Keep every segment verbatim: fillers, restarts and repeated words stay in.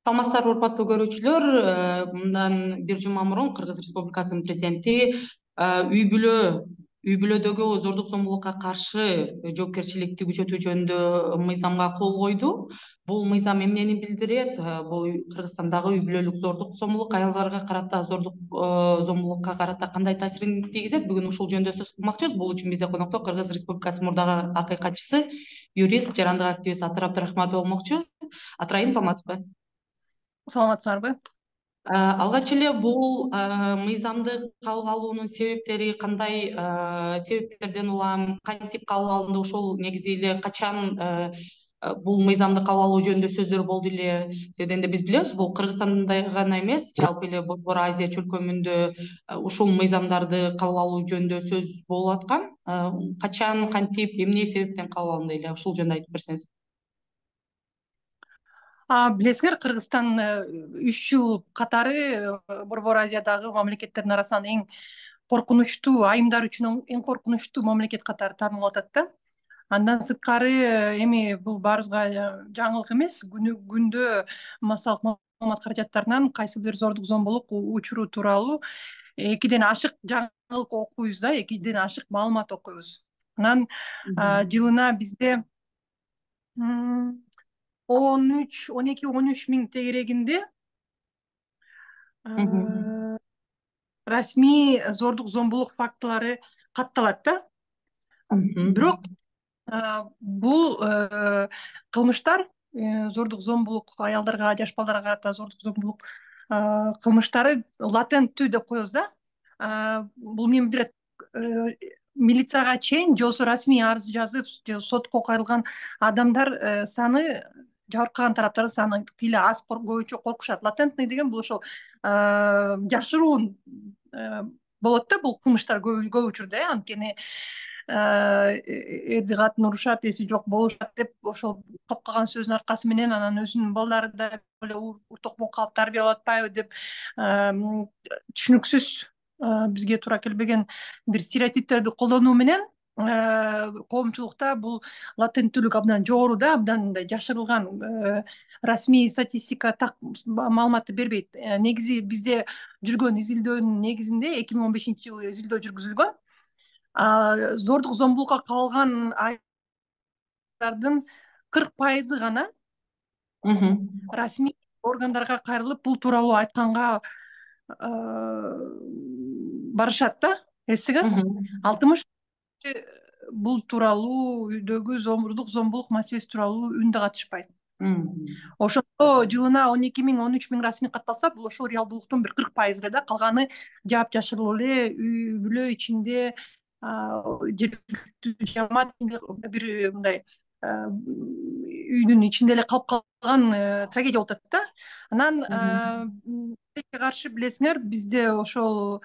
Саламатсыздарбы урматтуу көрүүчүлөр. Мындан бир жума мурун Кыргыз Республикасынын президенти үй бүлө үй бүлөдөгү зордук зомбулукка каршы жоопкерчиликти күчөтүү жөнүндө мыйзамга кол койду. Бул мыйзам эмнени билдирет? Бул Кыргызстандагы үй бүлөлүк зордук зомбулук, аялдарга карата зордук зомбулукка карата кандай таасирин тийгизет? Бүгүн ушул жөнүндө сөз кылмакчыбыз. Бул үчүн бизде конокто Кыргыз Республикасынын мурдагы акыйкатчысы, юрист, жарандык активист Атыр Абдрахматов болмокчу. Атыр айым, саламатсызбы? Саламатсыздарбы? Алгач эле бул мыйзамды кабыл алуунун себептери кандай, себептерден улам кантип кабыл алынды, ошол негизи эле качан бул мыйзамды кабыл алуу жөнүндө сөздөр болду эле? Себебинде энди биз билебиз, бул Кыргызстанда гана эмес, жалпы эле Борбор Азия чөлкөмүндө ушул мыйзамдарды кабыл алуу жөнүндө сөз болуп аткан. Качан, кантип, эмне себептен кабыл алынды эле? Ушул жөнүндө айтып берсеңиз. Билесиңер, Кыргызстан үч жыл катары Борбор Азиядагы мамлекеттердин арасынан эң коркунучтуу, айымдар үчүн эң коркунучтуу мамлекет катары таанылып атат да. Андан сырткары эми бул баарыбызга жаңылык эмес. Күндө массалык маалымат каражаттарынан кайсы бир зордук зомбулук учуру тууралуу экиден ашык жаңылык окуйбуз да, экиден ашык маалымат окуйбуз. Анан жылына бизде он үч, он эки, он үч миң тегерегинде расмий зордук зомбулук фактылары катталат да. Бирок бул кылмыштар, зордук зомбулук, аялдарга, жаш балдарга карата зордук зомбулук кылмыштары латенттүү деп коебуз да. Бул эмнени билдирет? Милицияга чейин же болбосо расмий арыз жазып, же сотко кайрылган адамдар саны, жабыркаган тараптардын саны кыйла аз, көбүнчө коркушат. Латентный деген бул ошол жашыруун болот да, бул кылмыштар көп учурда. Анткени эрди катын урушат, эси жок болушат деп ошол топкаган сөздүн аркасы менен анан өзүнүн балдары да эле ур токмок калып тарбиялап атпайбы деп түшүнүксүз, бизге туура келбеген бир стереотиптерди колдонуу менен коомчулукта бул латенттүүлүк абдан жогору да, абдан мындай жашырылган, расмий статистика так маалыматты бербейт. Негизи бизде жүргөн изилдөөнүн негизинде эки миң он бешинчи жылы изилдөө жүргүзүлгөн. Зордук зомбулукка кабылган аялдардын кырк пайызы гана расмий органдарга кайрылып бул тууралуу айтканга барышат да. Эсиңер, алтымыш бул тууралуу үйдөгү зордук зомбулук маселеси тууралуу үндө катышпайт. Ошондо жылына он эки миң, он үч миң расмий катталса, бул ошол реалдуулуктун бир кырк пайызы эле да. Калганы жаап жашырылуу эле үй бүлө ичинде, жергиликтүү жамаат бир мындай үйдүн ичинде эле калып калган трагедия болуп атат да. Анан каршы билесиңер, бизде ошол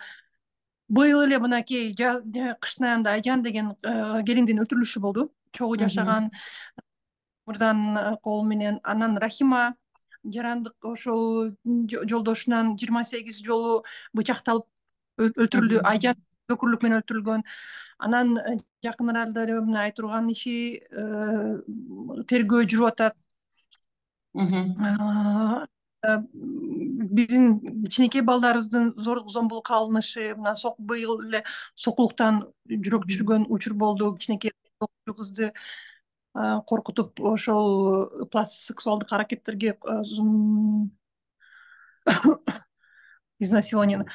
быйыл эле мынакей кыштын аягында Айжан деген келиндин өлтүрүлүшү болду. Чогуу жашаган мырзанын колу менен. Анан Рахима жарандык ошол жолдошунан жыйырма сегиз жолу бычакталып өлтүрүлдү. Айжан өкүрлүк менен өлтүрүлгөн. Анан жакын аралдардын айтырган иши тергөө жүрүп атат. Биздин кичинекей балдарыбыздын зордук зомбулукка алынышы, мына быйыл эле сокулуктан жүрөк түшүргөн учур болду. Кичинекей кызды коркутуп ошол сексуалдык аракеттерге, изнасилование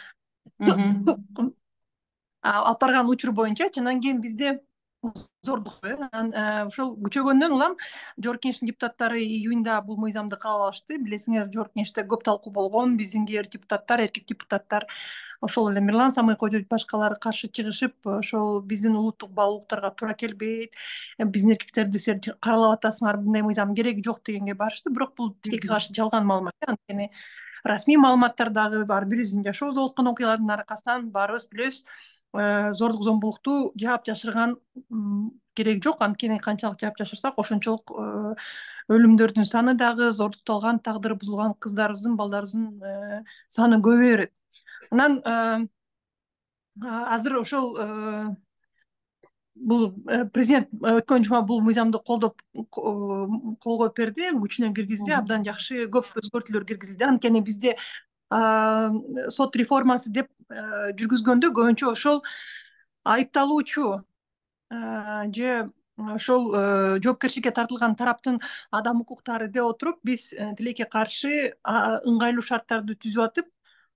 алып барган учур боюнча. Анан кийин бизде зордук ошол күчөгөндөн улам Жогорку Кеңештин депутаттары июнда бул мыйзамды кабыл алышты. Билесиңер, Жогорку Кеңеште көп талкуу болгон. Биздингер депутаттар, эркек депутаттар, ошол эле Мирлан Самыйков же башкалары каршы чыгышып, ошол биздин улуттук баалуулуктарга туура келбейт, биздин эркектерди силер каралап атасыңар, мындай мыйзам кереги жок дегенге барышты. Бирок бул тилекке каршы жалган маалымат. Анткени расмий маалыматтар дагы ар бирибиздин жашообузда болуп аткан окуялардын аркасынан баарыбыз билебиз, зордук зомбулукту жаап жашырган кереги жок. Анткени канчалык жаап жашырсак, ошончолук өлүмдөрдүн саны дагы, зордукталган, тагдыры бузулган кыздарыбыздын, балдарыбыздын саны көбөйө берет. Анан азыр ошол бул президент өткөн жума бул мыйзамды колдоп кол коюп берди, күчүнө киргизди, абдан жакшы, көп өзгөртүүлөр киргизилди. Анткени бизде сот реформасы деп жүргүзгөндө көбүнчө ошол айыпталуучу же ошол жоопкерчиликке тартылган тараптын адам укуктары деп отуруп, биз тилекке каршы ыңгайлуу шарттарды түзүп атып,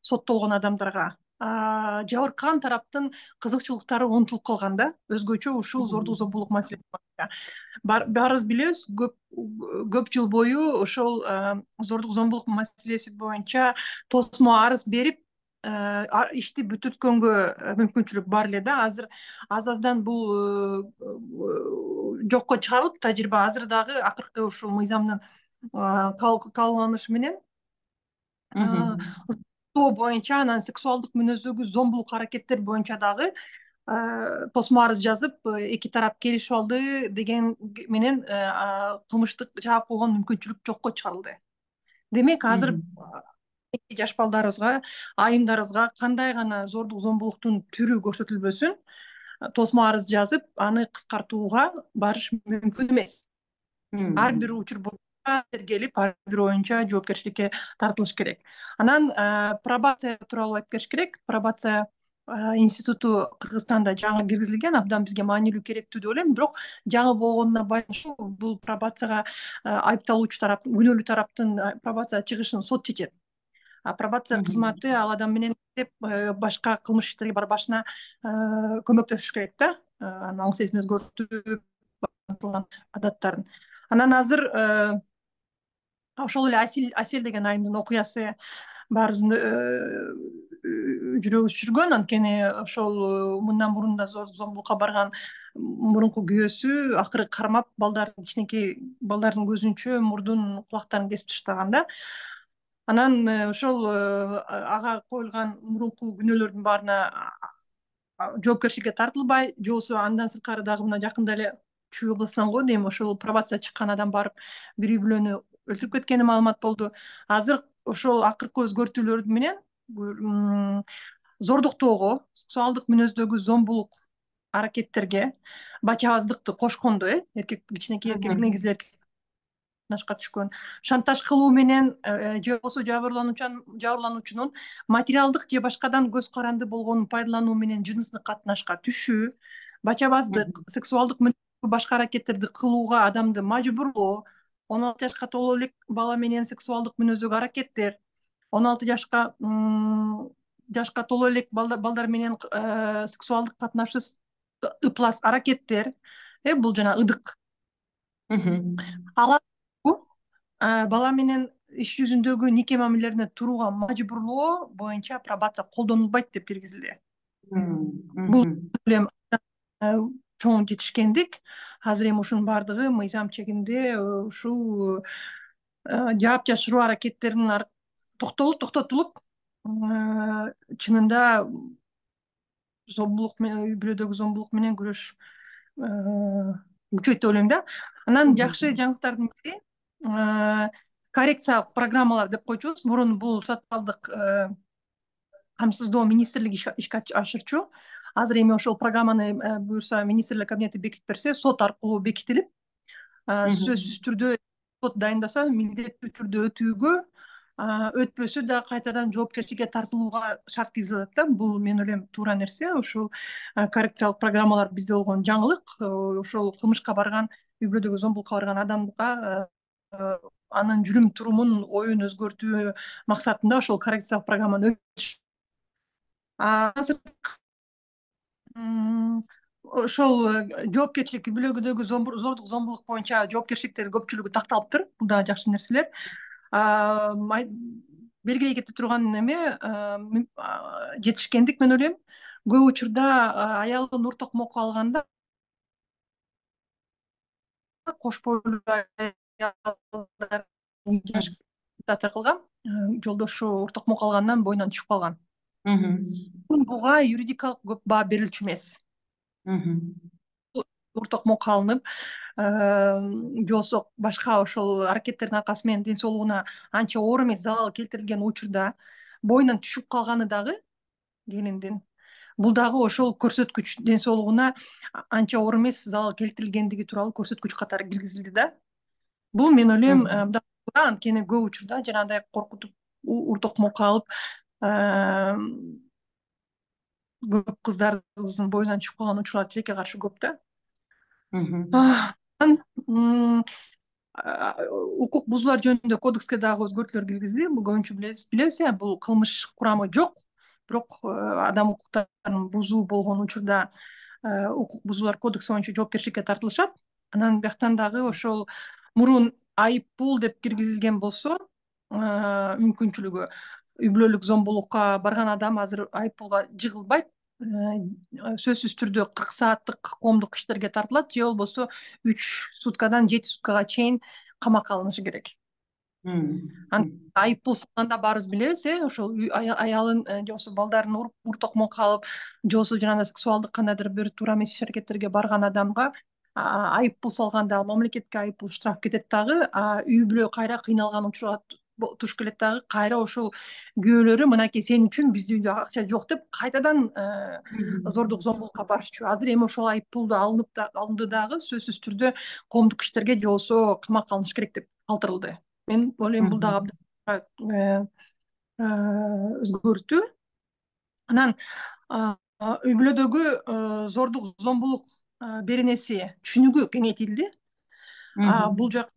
соттолгон адамдарга жабыркаган тараптын кызыкчылыктары унутулуп калган да. Өзгөчө ушул зордук зомбулук маселеси боюнча баарыбыз билебиз, көп көп жыл бою ошол зордук зомбулук маселеси боюнча тосмо арыз берип ишти бүтүрткөнгө мүмкүнчүлүк бар эле да. Азыр аз аздан бул жокко чыгарылып, тажрыйба азыр дагы акыркы ушул мыйзамдын кабылганышы менен боюнча, анан сексуалдык мүнөздөгү зомбулук аракеттер боюнча дагы тосмо арыз жазып, эки тарап келишип алды деген менен кылмыштык жаап койгон мүмкүнчүлүк жокко чыгарылды. Демек, азыр жаш балдарыбызга, айымдарыбызга кандай гана зордук зомбулуктун түрү көрсөтүлбөсүн, тосмо арыз жазып, аны кыскартууга барыш мүмкүн эмес. Ар бир учур боюнча тергелип, ар бир боюнча жоопкерчиликке тартылыш керек. Анан пробация тууралуу айтып кетиш керек. Пробация институту Кыргызстанда жаңы киргизилген, абдан бизге маанилүү, керектүү деп ойлойм. Бирок жаңы болгонуна байланыштуу бул пробацияга айыпталуучу тарап, күнөөлүү тараптын пробацияга чыгышын сот чечет. Пробация кызматы ал адам менен иштеп, башка кылмыш иштерге барбашына көмөктөшүш керек да. Анын аң сезим өзгөртүп адаттарын. Анан азыр ошол эле Асель деген айымдын окуясы баарыбыздын жүрөгүбүз жүргөн. Анткени ошол мындан мурун да зордук зомбулукка барган мурунку күйөөсү акыры кармап, балдардын кичинекей балдардын көзүнчө мурдун, кулактарын кесип таштаган да. Анан ошол ага коюлган мурунку күнөөлөрдүн баарына жоопкерчиликке тартылбай, же болбосо андан сырткары дагы мына жакында эле Чүй областынан го дейм, ошол пробация чыккан адам барып бир үй бүлөнү өлтүрүп кеткени маалымат болду. Азыр ошол акыркы өзгөртүүлөр менен зордуктоого, сексуалдык мүнөздөгү зомбулук аракеттерге бачабаздыкты кошкондо, э эркек, кичинекей эркек, негизи эркек нашка түшкөн, шантаж кылуу менен же болбосо жабырлануучунун материалдык же башкадан көз каранды болгонун пайдалануу менен жыныстык катнашка түшүү, бачабаздык, сексуалдык башка аракеттерди кылууга адамды мажбурлоо, он алты жашка толо элек бала менен сексуалдык мүнөздөгү аракеттер, он алты жашка жашка толо элек балдар менен сексуалдык катнашсыз ыплас аракеттер, э бул жана ыдык. Ал бала менен иш жүзүндөгү нике мамилелерине турууга мажбурлоо боюнча пробация колдонулбайт деп киргизилди. Бул чоң жетишкендик. Азыр эми ушунун баардыгы мыйзам чегинде ушул жаап жашыруу аракеттеринин токтолуп, токтотулуп, чынында зомбулук менен, үй бүлөдөгү зомбулук менен күрөш күчөйт деп ойлойм да. Анан жакшы жаңылыктардын бири коррекциялык программалар деп койчубуз. Мурун бул социалдык камсыздоо министрлиги ишке ашырчу. Азыр эми ошол программаны буюрса министрлер кабинети бекитип берсе, сот аркылуу бекитилип, сөзсүз түрдө сот дайындаса, милдеттүү түрдө өтүүгө, өтпөсө да кайтадан жоопкерчиликке тартылууга шарт киргизилет да. Бул мен ойлойм туура нерсе. Ушул коррекциялык программалар бизде болгон жаңылык. Ошол кылмышка барган, үй бүлөдөгү зомбулукка барган адамга анын жүрүм турумун, оюн өзгөртүү максатында ошол коррекциялык программаны өтүш. Азыр ошол жоопкерчилик, үй бүлөдөгү зордук зомбулук боюнча жоопкерчиликтер көпчүлүгү такталыптыр. Бул да жакшы нерселер. Белгилей кете турган эме жетишкендик, мен ойлойм. Көп учурда аялын уртокмокко алганда кош бойлуу аялдар кылган, жолдошу уртокмок алгандан боюнан түшүп калган. Буга юридикалык көп баа берилчү эмес. Уртокмок алынып, же болбосо башка ошол аракеттердин аркасы менен ден соолугуна анча оор эмес залал келтирилген учурда боюнан түшүп калганы дагы келиндин бул дагы ошол көрсөткүч ден соолугуна анча оор эмес залал келтирилгендиги тууралуу көрсөткүч катары киргизилди да. Бул мен ойлойм анткени көп учурда жанагындай коркутуп ур токмокко алып көп кыздардын боюнан чыгып калган учурлар тилекке каршы көп да. Укук бузуулар жөнүндө кодекске дагы өзгөртүүлөр киргизди. Бул көбүнчө билебиз, э, бул кылмыш курамы жок, бирок адам укуктарын бузуу болгон учурда укук бузуулар кодекси боюнча жоопкерчиликке тартылышат. Анан бияктан дагы ошол мурун айып пул деп киргизилген болсо мүмкүнчүлүгү үй бүлөлүк зомбулукка барган адам азыр айып пулга жыгылбайт, сөзсүз түрдө кырк сааттык коомдук иштерге тартылат же болбосо үч суткадан жети суткага чейин камакка алынышы керек. Айып пул салганда баарыбыз билебиз, э, ошол аялын же болбосо балдарын уруп ур токмокко алып же болбосо жанагындай сексуалдык кандайдыр бир туура эмес иш аракеттерге барган адамга айып пул салганда мамлекетке айып пул штраф кетет дагы, үй бүлө кайра кыйналган учурга туш келет дагы, кайра ошол күйөөлөрү мынакей сен үчүн биздин үйдө акча жок деп кайтадан зордук зомбулукка барышчу. Азыр эми ошол айып пулду алынып алынды дагы сөзсүз түрдө коомдук иштерге же болбосо камакка алыныш керек деп калтырылды. Мен ойлойм бул дагы өзгөртүү. Анан үй бүлөдөгү зордук зомбулук беренеси түшүнүгү кеңейтилди. Бул жак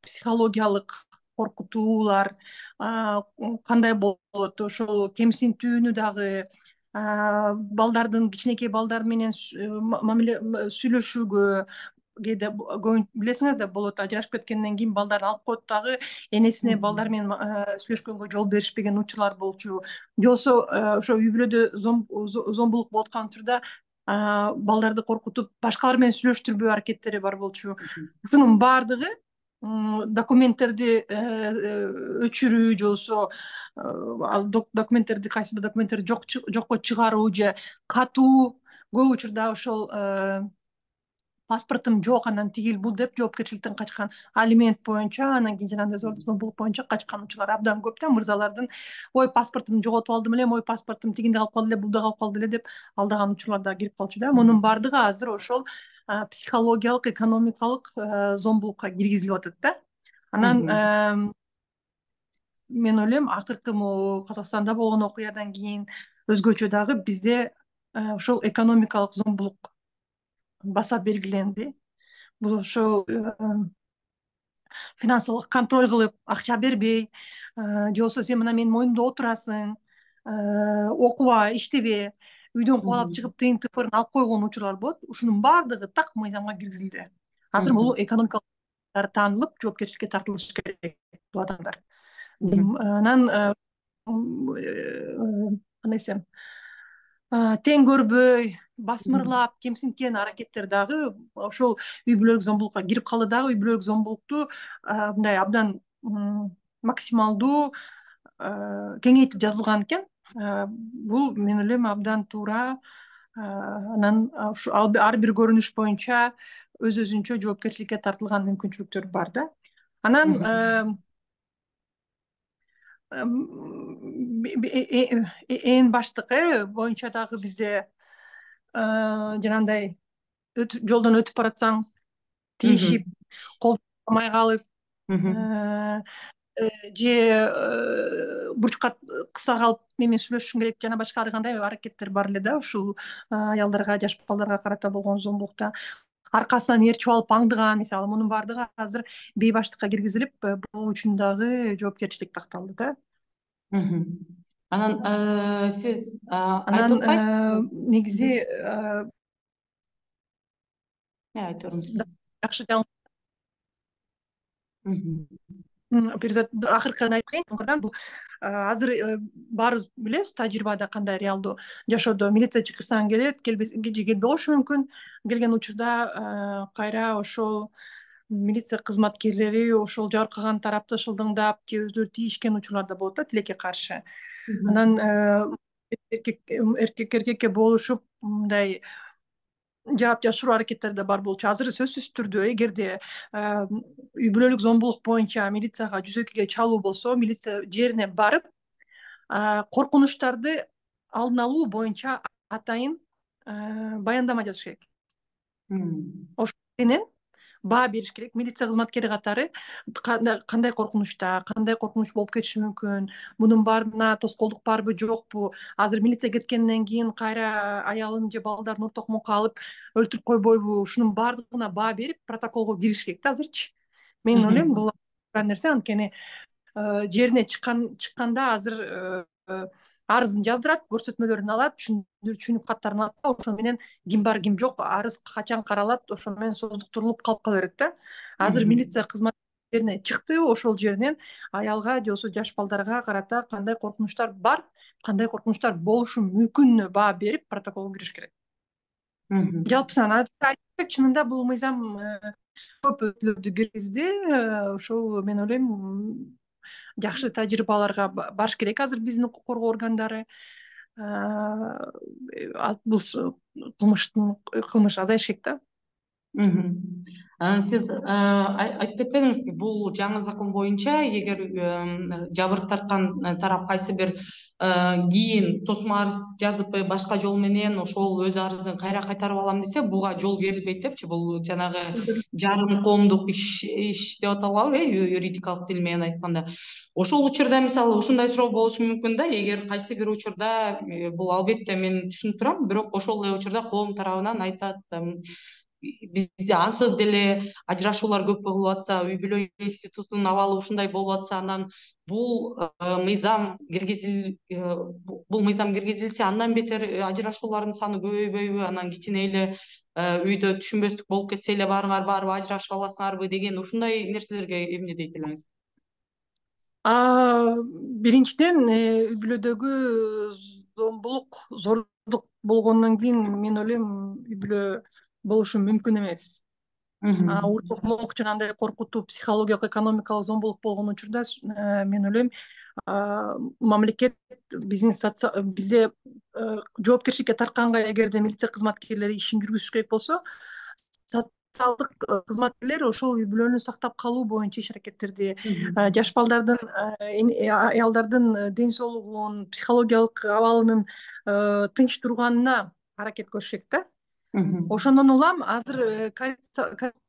психологиялык коркутуулар кандай болот, ошол кемсинтүүнү дагы, балдардын кичинекей балдар менен мамиле сүйлөшүүгө кээде билесиңер да болот, ажырашып кеткенден кийин балдарын алып коет дагы, энесине балдар менен сүйлөшкөнгө жол беришпеген учурлар болчу. Же болбосо ошо үй бүлөдө зомбулук болуп аткан учурда балдарды коркутуп башкалар менен сүйлөштүрбөө аракеттери бар болчу. Ушунун баардыгы документтерди өчүрүү же болбосо документтерди кайсы бир документтерди жокко чыгаруу же катуу көп учурда ошол паспортум жок, анан тигил бул деп жоопкерчиликтен качкан, алимент боюнча, анан кийин жанагындай зордук зомбулук боюнча качкан учурлар абдан көп да. Мырзалардын ой паспортумду жоготуп алдым эле, ой паспортум тигинде калып калды эле, булда калып калды эле деп алдаган учурлар да кирип калчу да. Мунун баардыгы азыр ошол психологиялык, экономикалык зомбулукка киргизилип атат да. Анан мен ойлойм акыркы могу Казакстанда болгон окуядан кийин өзгөчө дагы бизде ошол экономикалык зомбулук баса белгиленди. Бул ошол финансылык контроль кылып, акча бербей, же болбосо сен мына менин мойнумда отурасың, окубай, иштебе, үйдөн кубалап чыгып тыйын тыпырын алып койгон учурлар болот. Ушунун баардыгы так мыйзамга киргизилди. Азыр бул экономикалык таанылып, жоопкерчиликке тартылышы керек бул адамдар. Анан кандай десем, тең көрбөй, басмырлап, кемсинткен аракеттер дагы ошол үй бүлөлүк зомбулукка кирип калды дагы. Үй бүлөлүк зомбулукту мындай абдан максималдуу кеңейтип жазылган экен. Бул мен ойлойм абдан туура. Анан ар бир көрүнүш боюнча өз өзүнчө жоопкерчиликке тартылган мүмкүнчүлүктөр бар да. Анан эң баштыкы боюнча дагы бизде жанагындай жолдон өтүп баратсаң тийишип, кол кумай калып же бурчка кыса калып мен менен сүйлөшүшүң керек жана башка ар кандай аракеттер бар эле да. Ушул аялдарга, жаш балдарга карата болгон зомбулукта аркасынан ээрчип алып аңдыган, мисалы, мунун баардыгы азыр бейбаштыкка киргизилип, бул үчүн дагы жоопкерчилик такталды да. Анан сиз айтып атпайсызбы? Негизи жакшы перизат акыркы айткан бул азыр баарыбыз билебиз тажрыйбада кандай реалдуу жашоодо милиция чакырсаң келет, келбесе келбей болушу мүмкүн. Келген учурда кайра ошол милиция кызматкерлери ошол жабыркаган тарапты шылдыңдап же өздөрү тийишкен учурлар да болот да, тилекке каршы. Анан эркек эркекке болушуп мындай жаап жашыруу аракеттери да бар болчу. Азыр сөзсүз түрдө эгерде үй бүлөлүк зомбулук боюнча милицияга жүз экиге чалуу болсо, милиция жерине барып коркунучтарды алдын алуу боюнча атайын баяндама жазыш керек. Ошол менен баа бериш керек. Милиция кызматкери катары кандай коркунучта, кандай коркунуч болуп кетиши мүмкүн, мунун баарына тоскоолдук барбы, жокпу, азыр милиция кеткенден кийин кайра аялын же балдарын ортокмокко алып өлтүрүп койбойбу, ушунун баардыгына баа берип протоколго кириш керек да азырчы. Мен ойлойм бул нерсе, анткени жерине чыкканда азыр арызын жаздырат, көрсөтмөлөрүн алат, түшүнүк каттарын алат, ошо менен ким бар ким жок, арыз качан каралат, ошо менен создуктурулуп калып кала берет да. Азыр милиция кызматкерине чыкты, ошол жеринен аялга же болбосо жаш балдарга карата кандай коркунучтар бар, кандай коркунучтар болушу мүмкүнүнө баа берип протоколго кириш керек. Жалпы санаа чынында бул мыйзам көп өзгөртүүлөрдү киргизди. Ошол мен ойлойм жакшы тажрыйбаларга барыш керек азыр биздин укук коргоо органдары. Бул кылмыштын кылмыш азайыш керек да. Сиз айтып кетпедиңизби, бул жаңы закон боюнча эгер жабыр тарткан тарап кайсы бир кийин тосмо арыз жазып башка жол менен ошол өз арызын кайра кайтарып алам десе, буга жол берилбейт депчи. Бул жанагы жарым коомдук иш деп аталабы, юридикалык тил менен айтканда. Ошол учурда мисалы ушундай суроо болушу мүмкүн да, эгер кайсы бир учурда бул албетте мен түшүнүп турам, бирок ошол эле учурда коом тарабынан айтат, бизде ансыз деле ажырашуулар көп болуп атса, үй бүлө институтунун абалы ушундай болуп атса, анан бул мыйзам киргизил бул мыйзам киргизилсе, андан бетер ажырашуулардын саны көбөйбөйбү, анан кичине эле үйдө түшүнбөстүк болуп кетсе эле барыңар барып ажырашып аласыңарбы деген ушундай нерселерге эмне дейт элеңиз? Биринчиден, үй бүлөдөгү зомбулук, зордук болгондон кийин мен ойлойм үй бүлө болушу мүмкүн эмес. Уртокмок жана андай коркутуу, психологиялык, экономикалык зомбулук болгон учурда мен ойлойм мамлекет биздин бизде жоопкерчиликке тартканга эгерде милиция кызматкерлери ишин жүргүзүш керек болсо, социалдык кызматкерлер ошол үй бүлөнү сактап калуу боюнча иш аракеттерди, жаш балдардын, аялдардын ден соолугунун, психологиялык абалынын тынч турганына аракет көрүш керек да. Ошондон улам азыр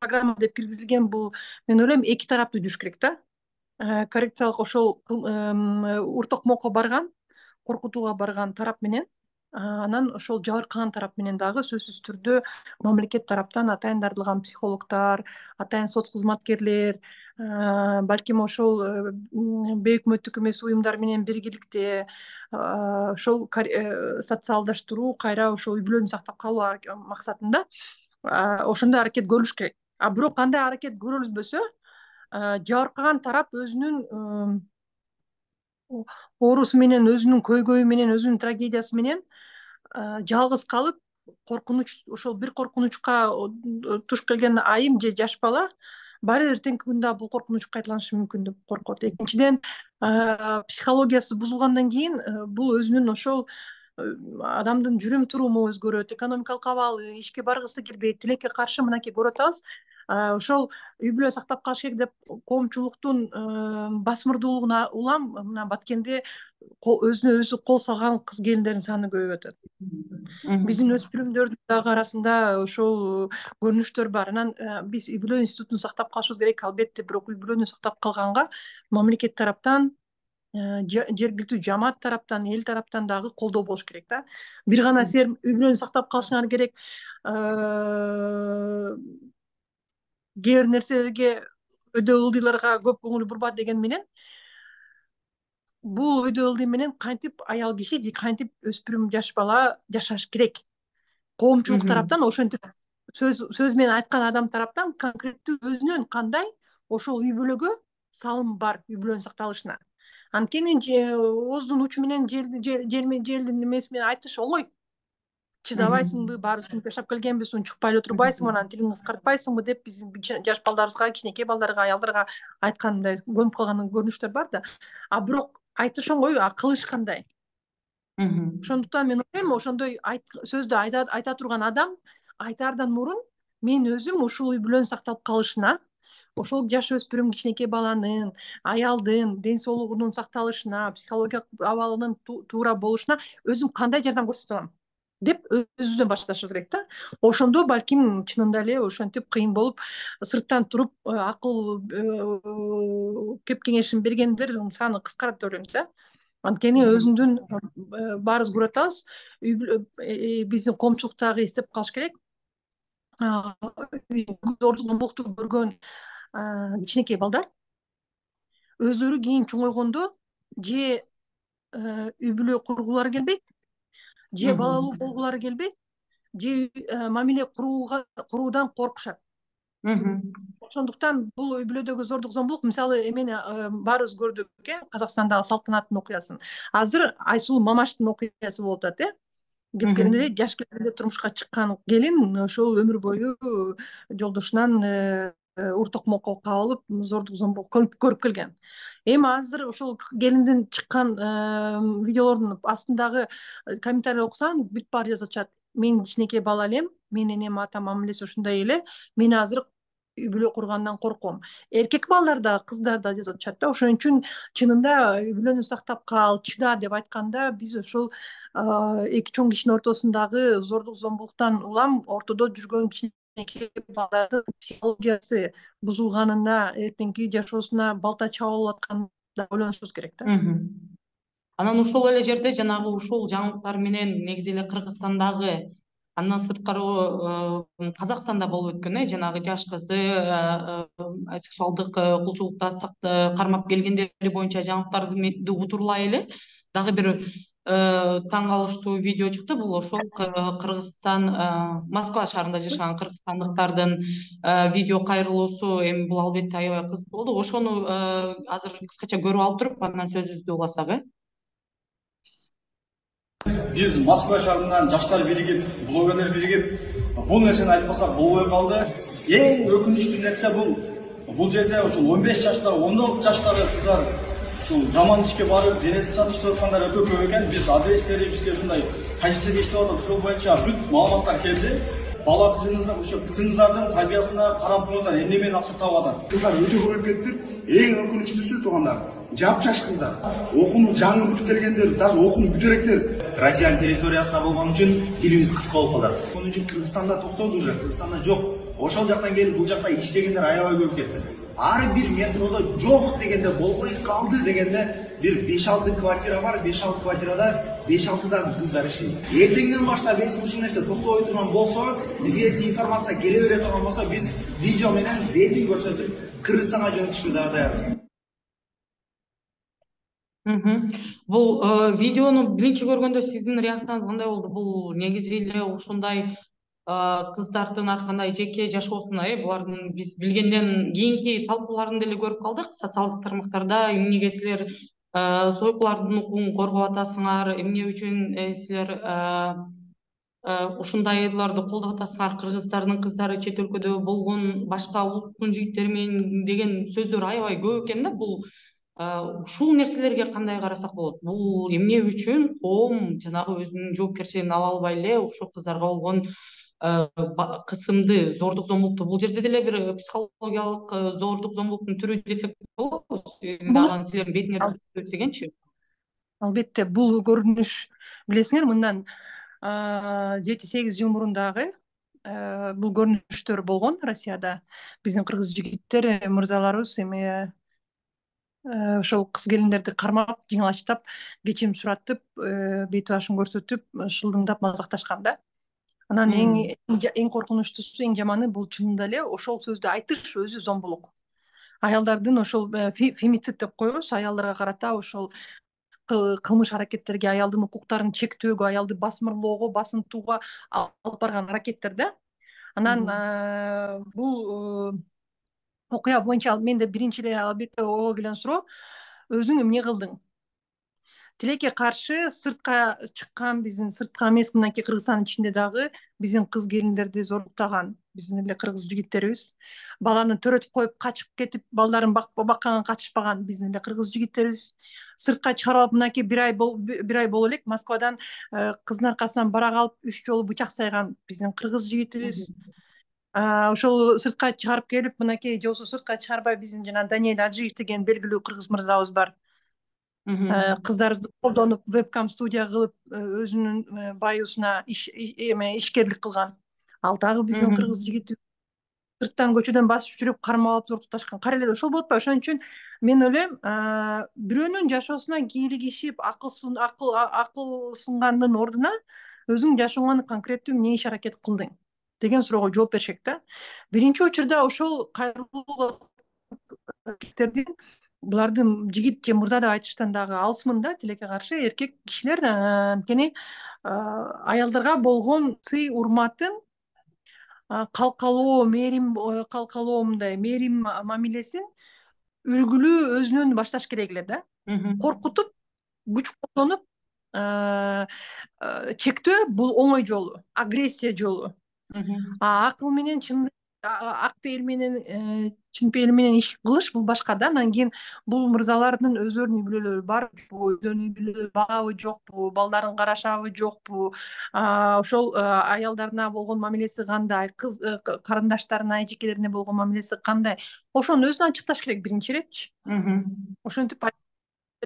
программа деп киргизилген, бул мен ойлойм эки тараптуу жүрүш керек да. Коррекциялык ошол уртокмокко барган, коркутууга барган тарап менен, анан ошол жабыркаган тарап менен дагы сөзсүз түрдө мамлекет тараптан атайын дартылган психологдор, атайын соц кызматкерлер, балким ошол бейөкмөттүк эмес уюмдар менен биргеликте ошол социалдаштыруу, кайра ошол үй бүлөнү сактап калуу максатында ошондой аракет көрүлүш керек. А бирок кандай аракет көрүлбөсө, жабыркаган тарап өзүнүн оорусу менен, өзүнүн көйгөйү менен, өзүнүн трагедиясы менен жалгыз калып, коркунуч, ошол бир коркунучка туш келген айым же жаш бала баары эртеңки күндө бул коркунуч кайталанышы мүмкүн деп коркот. Экинчиден, психологиясы бузулгандан кийин бул өзүнүн ошол адамдын жүрүм туруму өзгөрөт, экономикалык абалы, ишке баргысы келбейт, тилекке каршы мынакей көрүп атабыз. Ошол үй бүлө сактап калыш керек деп коомчулуктун басмырдуулугуна улам мына Баткенде өзүнө өзү кол салган кыз келиндердин саны көбөйүп атат. Биздин өспүрүмдөрдүн дагы арасында ошол көрүнүштөр бар. Анан биз үй бүлө институтун сактап калышыбыз керек, албетте, бирок үй бүлөнү сактап калганга мамлекет тараптан, жергиликтүү жамаат тараптан, эл тараптан дагы колдоо болуш керек да. Бир гана силер үй бүлөнү сактап калышыңар керек, кээ бир нерселерге, өйдө ылдыйларга көп көңүл бурба деген менен, бул өйдө ылдый менен кантип аял киши же кантип өспүрүм жаш бала жашаш керек? Коомчулук тараптан, ошентип сөз сөз менен айткан адам тараптан конкреттүү өзүнүн кандай ошол үй бүлөгө салым бар, үй бүлөнүн сакталышына. Анткени ооздун учу менен желдин эмеси менен айтыш оңой. Чыдабайсыңбы, баары ушинтип жашап келгенбиз, унчукпай эле турбайсыңбы, анан тилиңди кыскартпайсыңбы деп биздин жаш балдарыбызга, кичинекей балдарга, аялдарга айткандай көнүп калган көрүнүштөр бар да. А бирок айтыш оңой, а кылыш кандай? Ошондуктан мен ойлойм, ошондой сөздү айта турган адам айтаардан мурун мен өзүм ушул үй бүлөнүн сакталып калышына, ошол жаш өспүрүм кичинекей баланын, аялдын ден соолугунун сакталышына, психологиялык абалынын туура болушуна өзүм кандай жардам көрсөтө алам? деп өзүбүздөн башташыбыз керек да. Ошондо балким чынында эле ошентип кыйын болуп сырттан туруп акыл кеп кеңешин бергендер саны кыскарат деп ойлойм да. Анткени өзүндүн баарыбыз көрүп атабыз, биздин коомчулуктагы эстеп калыш керек. Зордук зомбулукту көргөн кичинекей балдар өздөрү кийин чоңойгондо же үй бүлө кургулары келбейт, же балалуу болгулары келбейт, же мамиле куруудан коркушат. Ошондуктан бул үй бүлөдөгү зордук зомбулук, мисалы эмени баарыбыз көрдүк э Казакстандагы Салтанаттын окуясын. Азыр Айсулуу Мамаштын окуясы болуп атат э. Кепкенде жаш кезинде турмушка чыккан келин ошол өмүр бою жолдошунан ур токмокко кабылып зордук зомбулук көрүп келген. Эми азыр ошол келиндин чыккан видеолордун астындагы комментарий окусаң бүт баары жазышат: мен кичинекей бала элем, менин энем атам мамилеси ушундай эле, мен азыр үй бүлө кургандан корком. Эркек балдар да, кыздар да жазышат да. Ошон үчүн чынында үй бүлөнү сактап кал, чыда деп айтканда биз ошол эки чоң кишинин ортосундагы зордук зомбулуктан улам ортодо жүргөн кичинекей балдардын психологиясы бузулганына, эртеңки жашоосуна балта чаба болуп атканына ойлонушубуз керек да. Анан ошол эле жерде жанагы ушул жаңылыктар менен негизи эле Кыргызстандагы, андан сырткары Казакстанда болуп өткөн э жанагы жаш кызды сексуалдык кулчулукта кармап келгендери боюнча жаңылыктарды утурлай эле дагы бир таң калыштуу видео чыкты. Бул ошол Кыргызстан, Москва шаарында жашаган кыргызстандыктардын видео кайрылуусу. Эми бул албетте аябай кызык болду. Ошону азыр кыскача көрүп алып туруп андан сөзүбүздү уласак э. Биз Москва шаарынан жаштар биригип, блогерлер биригип бул нерсени айтпасак болбой калды. Эң өкүнүчтүү нерсе бул бул жерде ушул он беш жаштагы, он алты жаштагы кыздар ушул жаман ишке барып, денесин сатыштырып аткандар өтө көп экен. Биз адрестери, бизге ушундай позицияда иштеп атып, ошол боюнча бүт маалыматтар келди. Бала кызыңыздар, ошо кызыңыздардын тарбиясына карап туруңуздар, эмне менен акча таап атат. Кыздар өтө көп кетиптир. Эң өкүнүчтүүсү туугандар, жапжаш кыздар, окууну жаңы бүтүп келгендер, даже окууну бүтөрөктөр. Россиянын территориясында болгон үчүн тилибиз кыска болуп калат. Ошон үчүн Кыргызстанда токтоду уже, Кыргызстанда жок. Ошол жактан келип бул жакта иштегендер аябай көп кетти. Ар бир метродо жок дегенде, болбой калды дегенде бир беш алты квартира бар, беш алты квартирада беш алтыдан кыздар иштейт. Эртеңден баштап эс ушул нерсе токтобой турган болсо, бизге эс информация келе бере турган болсо, биз видео менен бетин көрсөтүп Кыргызстанга жөнөтүшкө дагы даярбыз. Бул видеону биринчи көргөндө сиздин реакцияңыз кандай болду? Бул негизи эле ушундай кыздардын ар кандай жеке жашоосуна, э булардын биз билгенден кийинки талкууларын деле көрүп калдык. Социалдык тармактарда эмнеге силер сойкулардын укугун коргоп атасыңар, эмне үчүн силер ушундайларды колдоп атасыңар, кыргыздардын кыздары чет өлкөдө болгон башка улуттун жигиттери менен деген сөздөр аябай көп экен да. Бул ушул нерселерге кандай карасак болот? Бул эмне үчүн коом жанагы өзүнүн жоопкерчилигин ала албай эле ушул кыздарга болгон кысымды, зордук зомбулукту, бул жерде деле бир психологиялык зордук зомбулуктун түрү десек болобу? Дагы силердин бетиңерди көрсөгөнчү? Албетте, бул көрүнүш билесиңер, мындан жети сегиз жыл мурун дагы бул көрүнүштөр болгон Россияда. Биздин кыргыз жигиттер, мырзаларыбыз эми ошол кыз келиндерди кармап, жыңалачтап, кечирим суратып, бет башын көрсөтүп, шылдыңдап мазакташкан да. Анан эң эң коркунучтуусу, эң жаманы бул чынында эле ошол сөздү айтыш өзү зомбулук. Аялдардын ошол фемицид деп коебуз, аялдарга карата ошол кылмыш аракеттерге, аялдын укуктарын чектөөгө, аялды басмырлоого, басынтууга алып барган аракеттер да. Анан бул окуя боюнча менде биринчи эле албетте ого келген суроо: өзүң эмне кылдың? Тилекке каршы сыртка чыккан, биздин сыртка эмес, мынакей Кыргызстандын ичинде дагы биздин кыз келиндерди зордуктаган биздин эле кыргыз жигиттерибиз, баланы төрөтүп коюп качып кетип, балдарын бакканга катышпаган биздин эле кыргыз жигиттерибиз. Сыртка чыгарып алып, мынакей бир ай бир ай боло элек Москвадан кыздын аркасынан барак алып үч жолу бычак сайган биздин кыргыз жигитибиз. Ошол сыртка чыгарып келип, мынакей же болбосо сыртка чыгарбай биздин жана Даниэль Аджиев деген белгилүү кыргыз мырзабыз бар. кыздарыбызды колдонуп вебкам студия кылып өзүнүн баюусуна эме ишкерлик кылган. Ал дагы биздин кыргыз жигити сырттан көчөдөн басып жүрүп кармап алып зор туташкан. Кара эле ошол болуп атпайбы? Ошон үчүн мен ойлойм, бирөөнүн жашоосуна кийлигишип, акыл акыл акыл сынгандын ордуна өзүң жашооңо конкреттүү эмне иш аракет кылдың деген суроого жооп беришек да. Биринчи учурда ошол кайрылуу эркектердин, булардын жигит же мырза деп айтыштан дагы алысмын да, тилекке каршы эркек кишилер анткени аялдарга болгон сый урматын, калкалоо, мээрим калкалоо, мындай мээрим мамилесин үлгүлүү өзүнөн башташ керек эле да. Коркутуп, күч колдонуп чектөө бул оңой жолу, агрессия жолу. Акыл менен чын ак пейил менен чын пейил менен иш кылыш бул башка да. Анан кийин бул мырзалардын өздөрүнүн үй бүлөлөрү барбы, өздөрүнүн үй бүлөлөрү багабы жокпу, балдарын карашабы жокпу, ошол аялдарына болгон мамилеси кандай, кыз карындаштарына, эжекелерине болгон мамилеси кандай, ошону өзүнө ачыкташ керек биринчи иретчи. Ошентип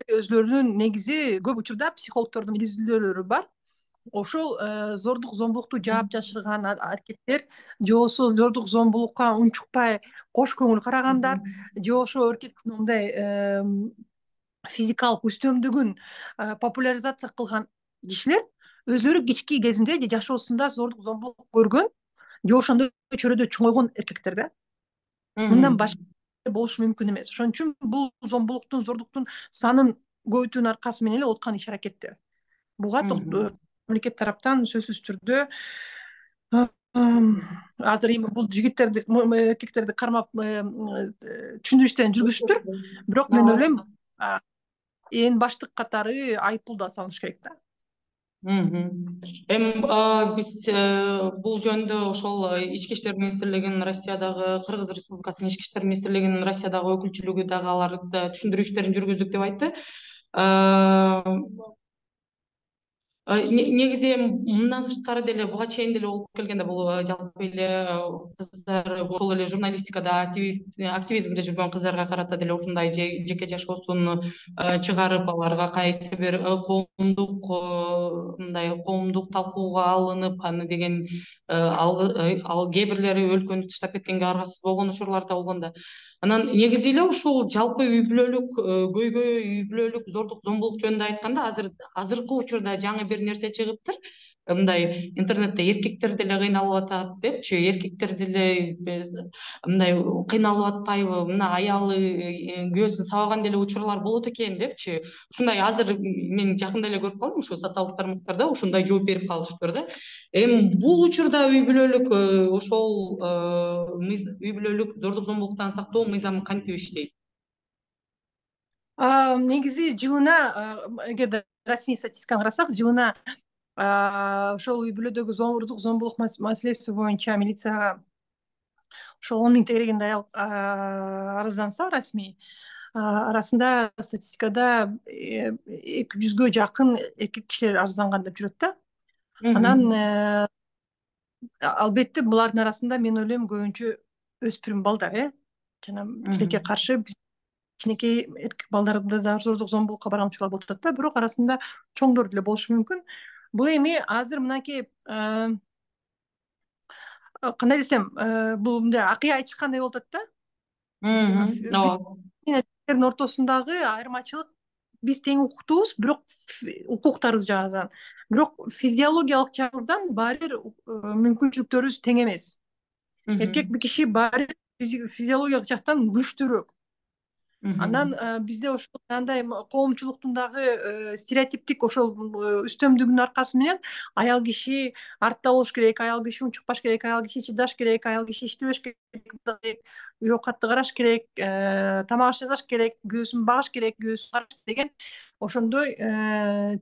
өзлөрүнүн негизи көп учурда психологдордун изилдөөлөрү бар. Ошол зордук зомбулукту жаап жашырган аркеттер, же болбосо зордук зомбулукка унчукпай кош көңүл карагандар, же ошо эркектин мындай физикалык үстөмдүгүн популяризация кылган кишилер өзлөрү кички кезинде же жашоосунда зордук зомбулук көргөн, же ошондой чөйрөдө чоңойгон эркектер да. Мындан башка болушу мүмкүн эмес. Ошон үчүн бул зомбулуктун, зордуктун санын көбөйтүүнүн аркасы менен эле откан иш аракеттер. Буга мамлекет тараптан сөзсүз түрдө азыр эми бул жигиттерди, эркектерди кармап түшүндүрүү иштерин жүргүзүптүр. Бирок мен ойлойм, эң баштык катары айыппул да салыш керек да. Эми биз бул жөнүндө ошол Ички иштер министрлигинин Россиядагы, Кыргыз Республикасынын Ички иштер министрлигинин Россиядагы өкүлчүлүгү дагы аларда түшүндүрүү иштерин жүргүздүк деп айтты. Негизи мындан сырткары деле буга чейин деле болуп келгенде бул жалпы эле кыздар ошол эле журналистикада активизмде жүргөн кыздарга карата деле ушундай жеке жашоосун чыгарып, аларга кайсы бир коомдук мындай коомдук талкууга алынып, аны деген ал кээ бирлери өлкөнү таштап кеткенге аргасыз болгон учурлар да болгон да. Анан негизи эле ушул жалпы үй бүлөлүк көйгөй, үй бүлөлүк зордук зомбулук жөнүндө айтканда, азыр азыркы учурда жаңы бир нерсе чыгыптыр. Мындай интернетте эркектер деле кыйналып атат депчи, эркектер деле мындай кыйналып атпайбы, мына аялы күйөөсүн сабаган деле учурлар болот экен депчи. Ушундай азыр мен жакында эле көрүп калдым, ушу социалдык тармактарда ушундай жооп берип калышыптыр да. Эми бул учурда үй бүлөлүк ошол үй бүлөлүк зордук зомбулуктан сактоо мыйзамы кантип иштейт? Негизи жылына, эгерде расмий статистиканы карасак, жылына ошол үй бүлөдөгү зордук зомбулук маселеси боюнча милицияга ошол он миңге тегерегинде аял арызданса расмий, арасында статистикада эки жүзгө жакын эркек кишилер арызданган деп жүрөт да. Анан албетте булардын арасында мен ойлойм көбүнчө өспүрүм балдар, э жана тилекке каршы кичинекей эркек балдарды да зордук зомбулукка барган учурлар болуп атат да, бирок арасында чоңдор деле болушу мүмкүн. Бул эми азыр мынакей кандай десем, бул мындай акый айтышкандай болуп атат да. Биздин ортосундагы айырмачылык, биз тең укуктуубуз, бирок укуктарыбыз жагынан, бирок физиологиялык жагыбыздан баары бир мүмкүнчүлүктөрүбүз тең эмес. Эркек бир киши баары физиологиялык жактан күчтүүрөөк. Анан бизде ошол андай коомчулуктун дагы стереотиптик ошол үстөмдүгүнүн аркасы менен аял киши артта болуш керек, аял киши унчукпаш керек, аял киши чыдаш керек, аял киши иштебеш керек, үй оокатты караш керек, тамак аш жасаш керек, күйөөсүн багыш керек, күйөөсүн караш деген ошондой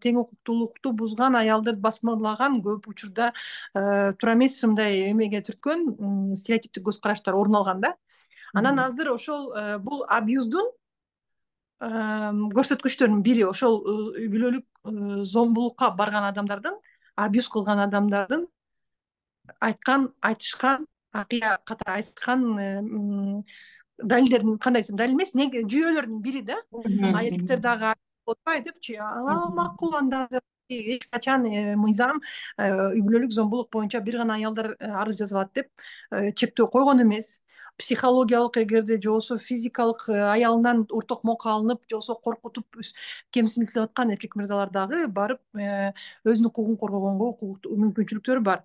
тең укуктуулукту бузган, аялды басмалаган, көп учурда туура эмес мындай эмеге түрткөн стереотиптик көз караштар орун алган да. Анан азыр ошол бул абьюздун көрсөткүчтөрүнүн бири ошол үй бүлөлүк зомбулукка барган адамдардын, абьюз кылган адамдардын айткан, айтышкан, акыя катары айткан далилдерин, кандай десем, далил эмес, жүйөлөрдүн бири да. Эркектер дагы болуп атпайбы депчи. Ал макул, анда эч качан мыйзам үй бүлөлүк зомбулук боюнча бир гана аялдар арыз жаза алат деп чектөө койгон эмес. Психологиялык, эгерде же болбосо физикалык аялынан ур токмокко алынып, же болбосо коркутуп кемсинтилип аткан эркек мырзалар дагы барып өзүнүн укугун коргогонго укуктуу мүмкүнчүлүктөрү бар.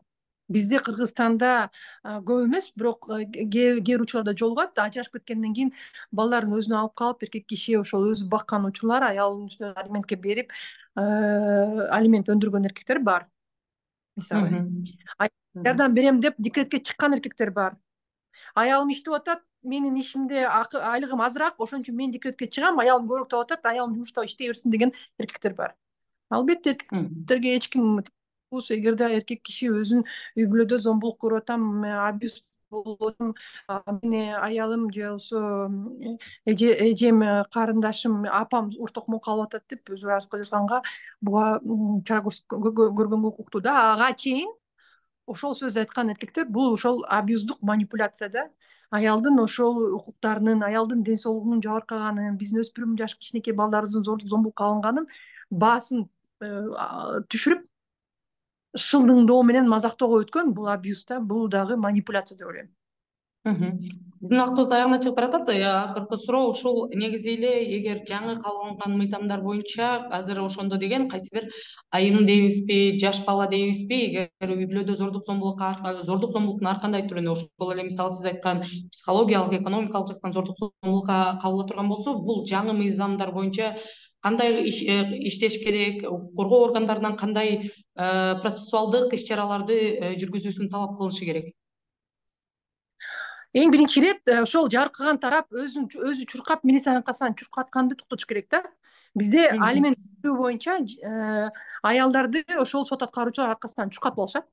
Бизде Кыргызстанда көп эмес, бирок кээ бир учурларда жолугат. Ажырашып кеткенден кийин балдарын өзүнө алып калып, эркек киши ошол өзү баккан учурлар, аялынын үстүнө алиментке берип, алимент өндүргөн эркектер бар. Мисалы, жардам берем деп декретке чыккан эркектер бар. Аялым иштеп атат, менин ишимде айлыгым азыраак, ошон үчүн мен декретке чыгам, аялым көбүрөөк таап атат, аялым жумушта иштей берсин деген эркектер бар. Албетте эркектерге эч ким, эгерде эркек киши өзүн үй бүлөдө зомбулук көрүп атам, абьюз болуп атам, мени аялым же болбосо эжем, карындашым, апам ур токмокко алып атат деп өзү арыз жазганга буга чара көргөнгө укуктуу да. Ага чейин ошол сөз айткан эркектер бул ошол абьюздук манипуляция да. Аялдын ошол укуктарынын, аялдын ден соолугунун жабыркаганын, биздин өспүрүм жаш кичинекей балдарыбыздын зордук зомбулукка алынганын баасын түшүрүп, шылдыңдоо менен мазактоого өткөн бул абьюз да, бул дагы манипуляция деп ойлойм. Биздин убактыбыз аягына чыгып баратат. Акыркы суроо ушул. Негизи эле эгер жаңы кабыл алынган мыйзамдар боюнча азыр ошондо деген кайсы бир айым дейбизби, жаш бала дейбизби, эгер үй бүлөдө зордук зомбулукка зордук зомбулуктун ар кандай түрүнө, ошол эле мисалы сиз айткан психологиялык, экономикалык жактан зордук зомбулукка кабыла турган болсо, бул жаңы мыйзамдар боюнча кандай иштеш керек, коргоо органдарынан кандай процессуалдык иш чараларды жүргүзүүсүн талап кылышы керек? Эң биринчи ирет ошол жабыркаган тарап өзүн өзү чуркап, милициянын аркасынан чуркатканды токтотуш керек да. Бизде алимент боюнча аялдарды ошол сот аткаруучулар аркасынан чуркатып алышат.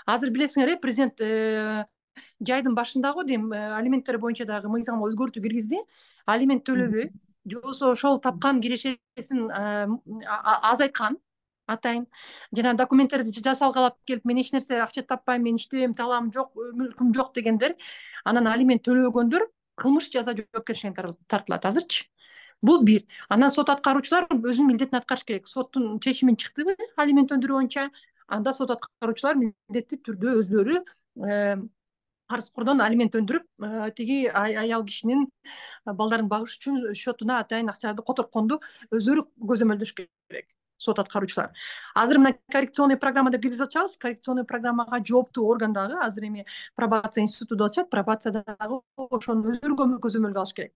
Азыр билесиңер, президент жайдын башында го дейм, алименттер боюнча дагы мыйзамга өзгөртүү киргизди. Алимент төлөбөй, же болбосо ошол тапкан кирешесин азайткан атайын. Жана документтерди жасалгы алып келип, мен эч нерсе акча таппайм, мен иштебейм, талаам жок, мүлкүм жок дегендер, анан алимент төлөбөгөндөр кылмыш жаза жоопкерчиликке тартылат азырчы. Бул бир. Анан сот аткаруучулар өзүнүн милдетин аткарыш керек. Соттун чечими чыктыбы алимент өндүрүү боюнча, анда сот аткаруучулар милдеттүү түрдө өзүлөрү карызкордон алимент өндүрүп, тиги аял кишинин балдарын багыш үчүн счетуна атайын акчаларды котортконду өзүлөрү көзөмөлдөш керек. Сот аткаруучулар. Азыр мына коррекционный программа деп киргизип атабыз. Коррекционный программага жооптуу орган дагы азыр эми пробация институту деп атышат. Пробация дагы ошону өзгөргөн көзөмөлгө алыш керек.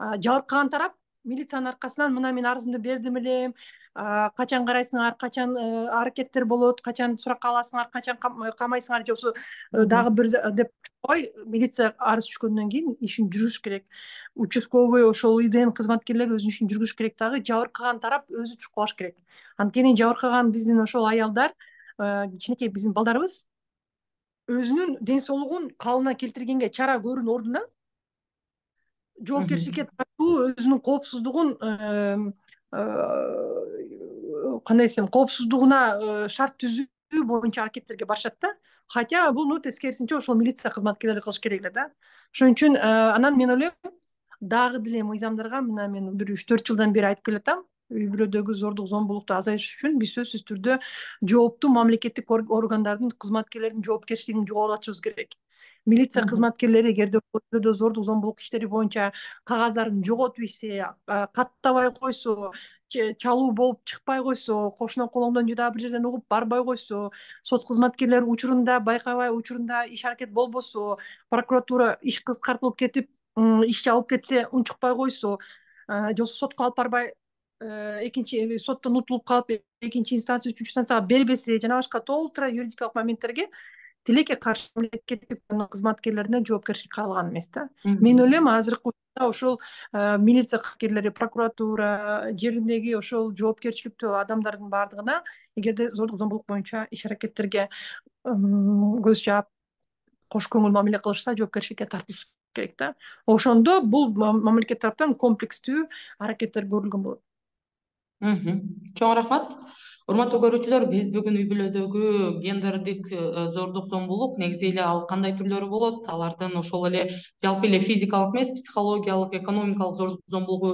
Жабыркаган тарап милициянын аркасынан мына мен арызымды бердим элем, качан карайсыңар, качан аракеттер болот, качан суракка аласыңар, качан камайсыңар, же болбосо дагы бир деп ой, милиция арыз түшкөндөн кийин ишин жүргүзүш керек. Участковый ошол ИДН кызматкерлери өзүнүн ишин жүргүзүш керек дагы, жабыркаган тарап өзү чуркалаш керек. Анткени жабыркаган биздин ошол аялдар, кичинекей биздин балдарыбыз өзүнүн ден соолугун калыбына келтиргенге чара көрүүнүн ордуна жоопкерчиликке тартуу, өзүнүн коопсуздугун кандай десем, коопсуздугуна шарт түзүү боюнча аракеттерге барышат да. Хотя буну тескерисинче ошол милиция кызматкерлери кылыш керек эле да. Ошон үчүн анан мен ойлойм, дагы деле мыйзамдарга мына мен бир үч төрт жылдан бери айтып келатам, үй бүлөдөгү зордук зомбулукту азайтыш үчүн биз сөзсүз түрдө жооптуу мамлекеттик органдардын кызматкерлеринин жоопкерчилигин жоготушубуз керек. Милиция кызматкерлери эгерде зордук зомбулук иштери боюнча кагаздарын жоготуп ишсе, каттабай койсо, чалуу болуп чыкпай койсо, кошуна колоңдон же дагы бир жерден угуп барбай койсо, сот кызматкерлери учурунда байкабай, учурунда иш аракет болбосо, прокуратура иш кыскартылып кетип, иш жабылып кетсе, унчукпай койсо, же болбосо сотко алып барбай, экинчи соттон утулуп калып, экинчи инстанция, үчүнчү инстанцияга бербесе, жана башка толтура юридикалык моменттерге тилекке каршы мамлекеттик кызматкерлерине жоопкерчилик каралган эмес да. Мен ойлойм, азыркы учурда ошол милиция кызматкерлери, прокуратура жериндеги ошол жоопкерчиликтүү адамдардын баардыгына эгерде зордук зомбулук боюнча иш аракеттерге көз жаап, кош көңүл мамиле кылышса, жоопкерчиликке тартылыш керек да. Ошондо бул мамлекет тараптан комплекстүү аракеттер көрүлгөн болот. Чоң рахмат. Урматтуу көрүүчүлөр, биз бүгүн үй бүлөдөгү гендердик зордук зомбулук негизи эле ал кандай түрлөрү болот, алардын ошол эле жалпы эле физикалык эмес, психологиялык, экономикалык зордук зомбулугу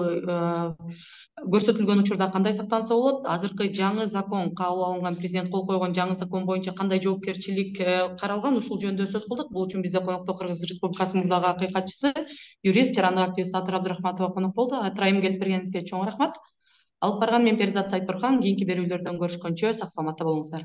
көрсөтүлгөн учурда кандай сактанса болот, азыркы жаңы закон, кабыл алынган, президент кол койгон жаңы закон боюнча кандай жоопкерчилик каралган, ушул жөнүндө сөз кылдык. Бул үчүн бизде конокто Кыргыз Республикасынын мурдагы акыйкатчысы, юрист, жарандык активист Сатыр Абдрахматова конок болду. Атырайым келип бергениңизге чоң рахмат. Алып барган мен Перизат Сайтбурхан. Кийинки берүүлөрдөн көрүшкөнчө сак саламатта болуңуздар.